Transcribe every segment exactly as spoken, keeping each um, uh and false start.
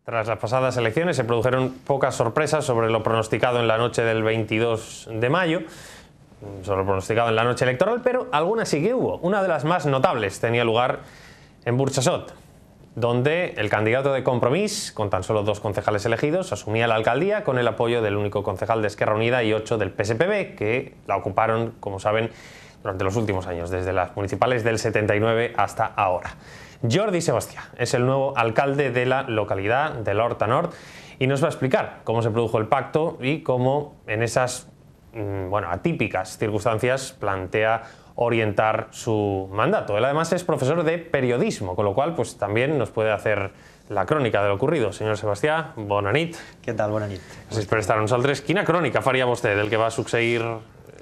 Tras las pasadas elecciones se produjeron pocas sorpresas sobre lo pronosticado en la noche del veintidós de mayo, sobre lo pronosticado en la noche electoral, pero algunas sí que hubo. Una de las más notables tenía lugar en Burxassot, donde el candidato de Compromís, con tan solo dos concejales elegidos, asumía la alcaldía con el apoyo del único concejal de Esquerra Unida y ocho del P S P B, que la ocuparon, como saben, durante los últimos años, desde las municipales del setenta y nueve hasta ahora. Jordi Sebastià es el nuevo alcalde de la localidad de l'Horta Nord y nos va a explicar cómo se produjo el pacto y cómo en esas bueno, atípicas circunstancias plantea orientar su mandato. Él además es profesor de periodismo, con lo cual pues también nos puede hacer la crònica de lo ocurrido. Senyor Sebastià, bona nit. Què tal? Bona nit. Gràcies per estar amb nosaltres. Quina crònica faria vostè del que va succeir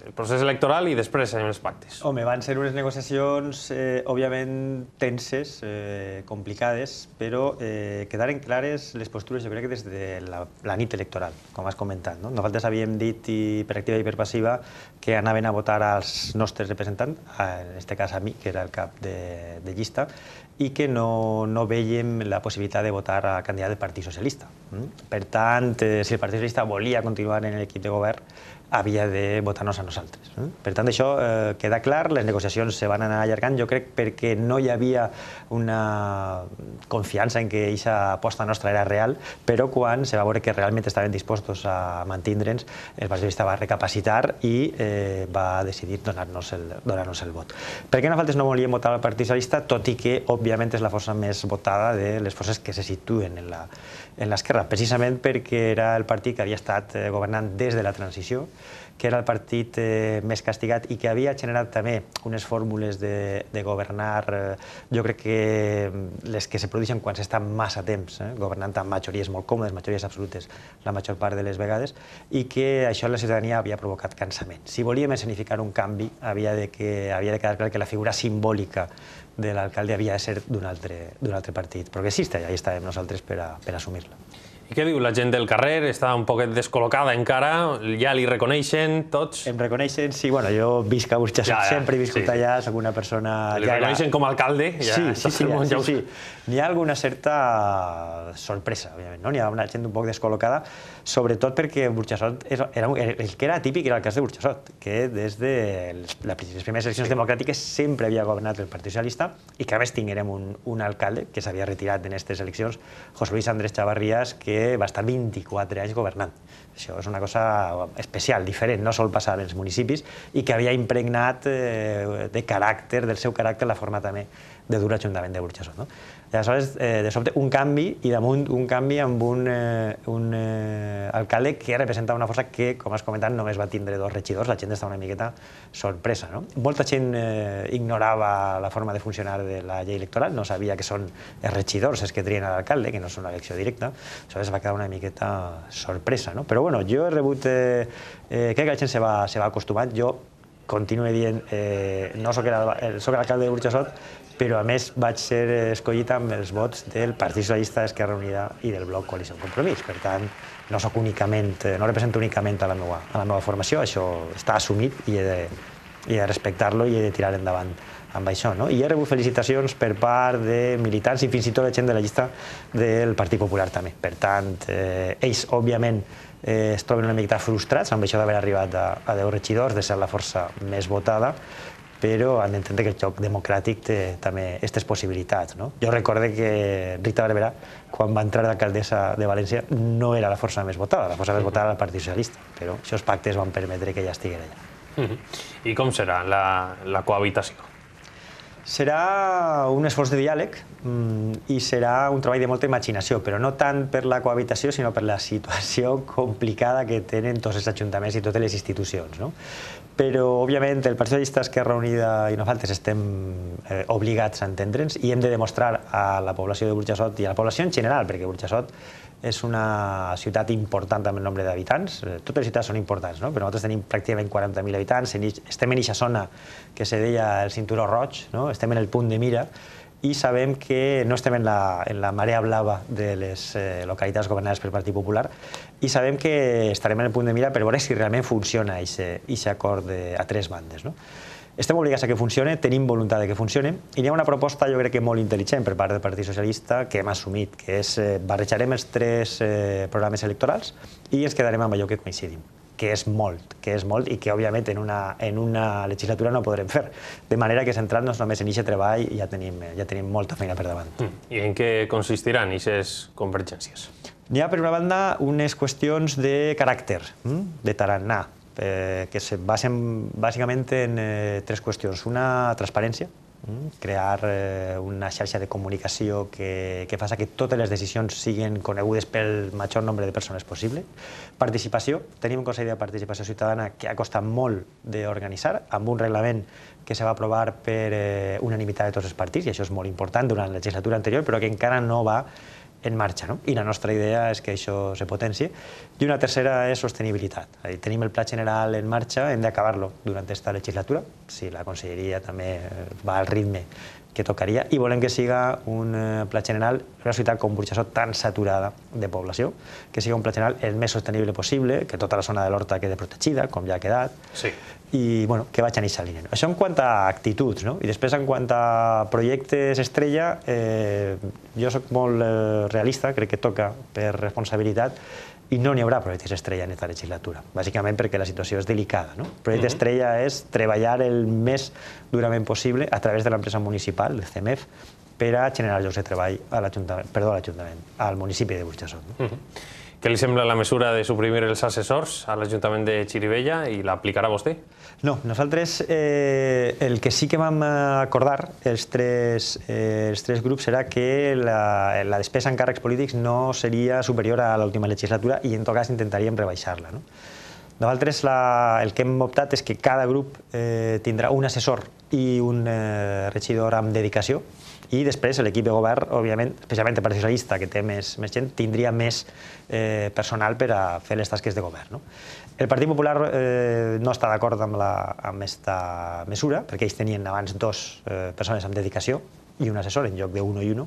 el procés electoral i després en els pactes? Home, van ser unes negociacions, eh, òbviament, tenses, eh, complicades, però eh, quedaren clares les postures, jo crec que des de la, la nit electoral, com has comentat. No? Nosaltres havíem dit, i per activa i per passiva, que anaven a votar als nostres representants, en aquest cas a mi, que era el cap de, de llista, i que no, no veiem la possibilitat de votar a candidat del Partit Socialista. Per tant, eh, si el Partit Socialista volia continuar en l'equip de govern, havia de votar-nos a nosaltres. Per tant, això eh, queda clar, les negociacions se van anar allargant, jo crec perquè no hi havia una confiança en que aquesta aposta nostra era real, però quan se va veure que realment estaven dispostos a mantindre'ns, el Partit Socialista va recapacitar i eh, va decidir donar-nos el, donar-nos el vot. Per què nosaltres no volíem votar al Partit Socialista, tot i que, òbviament, és la força més votada de les forces que se situen en la en l'esquerra, precisament perquè era el partit que havia estat governant des de la transició, que era el partit eh, més castigat i que havia generat també unes fórmules de, de governar, eh, jo crec que les que se produeixen quan s'està massa temps eh, governant amb majories molt còmodes, majories absolutes la major part de les vegades, i que això la ciutadania havia provocat cansament. Si volíem escenificar un canvi, havia de, que, havia de quedar clar que la figura simbòlica de l'alcalde havia de ser d'un altre, d'un altre partit progressista, i ahí estàvem nosaltres per, a, per assumir-la. I què diu la gent del carrer? Està un poquet descol·locada encara? Ja li reconeixen tots? Em reconeixen, sí, bueno, jo visc a Burxassot, ja, ja, sempre he viscut sí, allà, soc una persona... Li ja reconeixen era... com a alcalde? Ja, sí, sí, sí, ja, ja, sí, sí. N'hi ha alguna certa sorpresa, òbviament, no? N'hi ha una gent un poc descol·locada, sobretot perquè Burxassot era, era, el que era típic era el cas de Burxassot, que des de les, les primeres eleccions democràtiques sempre havia governat el Partit Socialista i que a més tinguérem un, un alcalde que s'havia retirat en aquestes eleccions, José Luis Andrés Chavarrías, que va estar vint-i-quatre anys governant. Això és una cosa especial, diferent, no sol passar als municipis, i que havia impregnat eh, de caràcter, del seu caràcter, la forma també de dur l'Ajuntament de Burxassot. No? I aleshores, eh, de sobte, un canvi, i damunt un canvi amb un, eh, un eh, alcalde que representava una força que, com has comentat, només va tindre dos regidors, la gent estava una miqueta sorpresa. No? Molta gent eh, ignorava la forma de funcionar de la llei electoral, no sabia que són els regidors els que trien a l'alcalde, que no són una elecció directa, aleshores va quedar una miqueta sorpresa. No? Però bueno, jo he rebut, eh, eh, crec que la gent se va, se va acostumant, jo continuo dient, eh, no soc l'alcalde de Burxassot, però a més vaig ser escollit amb els vots del Partit Socialista, Esquerra Unida i del bloc Coalició Compromís. Per tant, no soc únicament, no represento únicament a la meva, a la meva formació, això està assumit i he de, he de respectar-lo i he de tirar endavant amb això. No? I he rebut felicitacions per part de militants i fins i tot la gent de la llista del Partit Popular també. Per tant, eh, ells, òbviament, eh, es troben una miqueta frustrats amb això d'haver arribat a, a deu regidors, de ser la força més votada, però han d'entendre que el joc democràtic té també aquestes possibilitats. No? Jo recorde que Rita Barberà, quan va entrar d'alcaldessa de València, no era la força més votada, la força més votada era el Partit Socialista, però aquests pactes van permetre que ella estigués allà. I com serà la, la cohabitació? Serà un esforç de diàleg i serà un treball de molta imaginació, però no tant per la cohabitació, sinó per la situació complicada que tenen tots els ajuntaments i totes les institucions. No? Però, òbviament, el Partit Socialista, Esquerra Unida i nosaltres estem eh, obligats a entendre'ns i hem de demostrar a la població de Burxassot i a la població en general, perquè Burxassot és una ciutat important amb el nombre d'habitants, totes les ciutats són importants, no? Però nosaltres tenim pràcticament quaranta mil habitants, estem en aquesta zona que se deia el Cinturó Roig, no? Estem en el punt de mira i sabem que no estem en la, en la marea blava de les eh, localitats governades pel Partit Popular i sabem que estarem en el punt de mira per veure si realment funciona aquest acord de, a tres bandes. No? Estem obligats a que funcioni, tenim voluntat de que funcioni, i hi ha una proposta, jo crec que molt intel·ligent per part del Partit Socialista que hem assumit, que és eh, barrejarem els tres eh, programes electorals i ens quedarem amb allò que coincidim, que és molt, que és molt i que, òbviament, en una, en una legislatura no podrem fer. De manera que centrant-nos només en aquest treball ja tenim, ja tenim molta feina per davant. Mm. I en què consistiran aquestes convergències? N'hi ha, per una banda, unes qüestions de caràcter, de tarannà, eh, que se basen bàsicament en eh, tres qüestions. Una, transparència, crear eh, una xarxa de comunicació que, que faci que totes les decisions siguin conegudes pel major nombre de persones possible. Participació. Tenim un Consell de Participació Ciutadana que ha costat molt d'organitzar, amb un reglament que se va aprovar per eh, unanimitat de tots els partits, i això és molt important durant la legislatura anterior, però que encara no va en marxa, no? I la nostra idea és que això se potencie. I una tercera és sostenibilitat. Tenim el Pla General en marxa, hem d'acabar-lo durant aquesta legislatura, si la Conselleria també va al ritme que tocaria, i volem que siga un Pla General en una ciutat com Burjassot tan saturada de població, que siga un Pla General el més sostenible possible, que tota la zona de l'Horta quede protegida, com ja ha quedat, sí. i bueno, que vaig a aquesta línia. Això en quant a actituds, no? I després en quant a projectes estrella, eh, jo soc molt eh, realista, crec que toca per responsabilitat, i no n'hi haurà projectes estrella en aquesta legislatura, bàsicament perquè la situació és delicada. No? El projecte estrella és treballar el més durament possible a través de l'empresa municipal, el C E M E F, per a generar llocs de treball a l'Ajuntament, perdó, a l'Ajuntament, al municipi de Burjassot. No? Uh-huh. Què li sembla la mesura de suprimir els assessors a l'Ajuntament de Xirivella i l'aplicarà vostè? No, nosaltres eh, el que sí que vam acordar els tres, eh, els tres grups era que la, la despesa en càrrecs polítics no seria superior a l'última legislatura i en tot cas intentaríem rebaixar-la. No? Nosaltres la, el que hem optat és que cada grup eh, tindrà un assessor i un eh, regidor amb dedicació, i després l'equip de govern, òbviament, especialment el Partit Socialista, que té més, més gent, tindria més eh, personal per a fer les tasques de govern. No? El Partit Popular eh, no està d'acord amb aquesta mesura, perquè ells tenien abans dos eh, persones amb dedicació i un assessor en lloc d'un i un,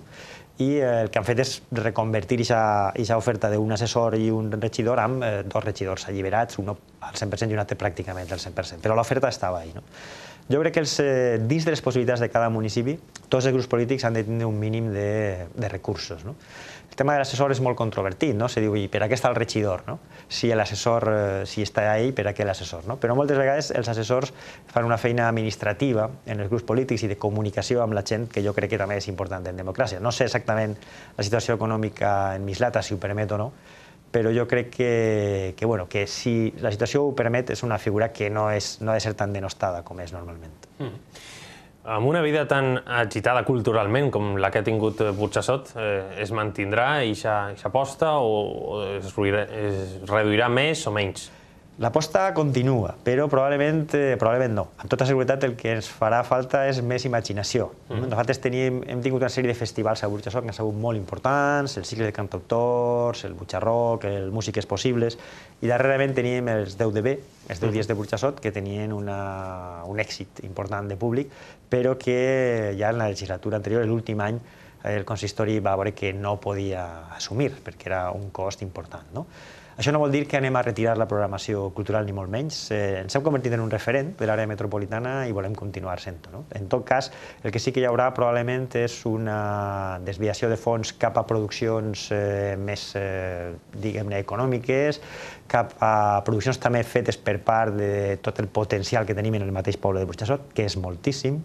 i eh, el que han fet és reconvertir aquesta oferta d'un assessor i un regidor amb eh, dos regidors alliberats, un al cent per cent i un altre pràcticament al cent per cent, però l'oferta estava ahí. No? Jo crec que els, eh, dins de les possibilitats de cada municipi, tots els grups polítics han de tenir un mínim de, de recursos. No? El tema de l'assessor és molt controvertit, no? Se diu, i per a què està el regidor? No? Si l'assessor, eh, si està ahí, per a què l'assessor? No? Però moltes vegades els assessors fan una feina administrativa en els grups polítics i de comunicació amb la gent, que jo crec que també és important en democràcia. No sé exactament la situació econòmica en Mislata, si ho permet o no, però jo crec que, que, bueno, que si la situació ho permet és una figura que no, és, no ha de ser tan denostada com és normalment. Mm. Amb una vida tan agitada culturalment com la que ha tingut Burjassot, eh, es mantindrà aquesta aposta o, o es, es reduirà més o menys? L'aposta continua, però probablement, eh, probablement no. Amb tota seguretat el que ens farà falta és més imaginació. Mm. Nosaltres tenim, hem tingut una sèrie de festivals a Burjassot que han sigut molt importants, el cicle de cantautors, el Butxarroc, el Músiques Possibles, i darrerament teníem els deu de be, els deu dies de Burjassot, que tenien una, un èxit important de públic, però que ja en la legislatura anterior, l'últim any, el consistori va veure que no podia assumir, perquè era un cost important. No? Això no vol dir que anem a retirar la programació cultural ni molt menys. Eh, ens hem convertit en un referent de l'àrea metropolitana i volem continuar sent-ho. No? En tot cas, el que sí que hi haurà probablement és una desviació de fons cap a produccions eh, més, eh, diguem-ne, econòmiques, cap a produccions també fetes per part de tot el potencial que tenim en el mateix poble de Burjassot, que és moltíssim,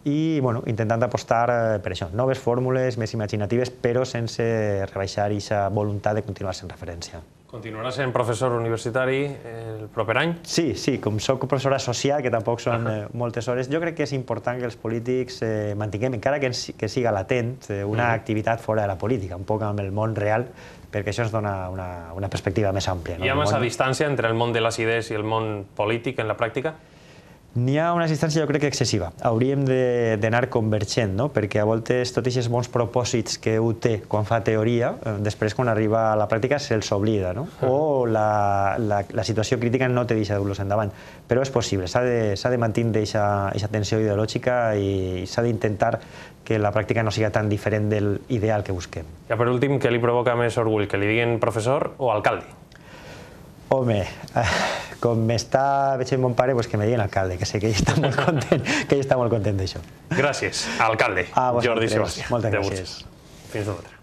i bueno, intentant apostar per això, noves fórmules més imaginatives, però sense rebaixar aquesta voluntat de continuar sent referència. Continuarà sent professor universitari el proper any? Sí, sí, com soc professor associat, que tampoc són eh, moltes hores, jo crec que és important que els polítics eh, mantinguem, encara que, que siga latent, eh, una uh-huh. activitat fora de la política, un poc amb el món real, perquè això ens dona una, una perspectiva més àmplia. No? Hi ha massa món... distància entre el món de les idees i el món polític en la pràctica? N'hi ha una distància, jo crec que excessiva. Hauríem d'anar convergent, no? Perquè a voltes tots aquests bons propòsits que un té quan fa teoria, després quan arriba a la pràctica se'ls oblida, no? O la, la, la situació crítica no te deixa dur-los endavant. Però és possible, s'ha de, s'ha de mantenir aquesta tensió ideològica i s'ha d'intentar que la pràctica no siga tan diferent del ideal que busquem. Ja per últim, què li provoca més orgull, que li diguin professor o alcalde? Home, com m'està veient mon pare, pues que me digui l'alcalde, que sé que ell està molt content, que ell està molt content d'això. Gràcies, alcalde A Jordi vosaltres, Sebastià. moltes de gràcies. Burxes. Fins una altra.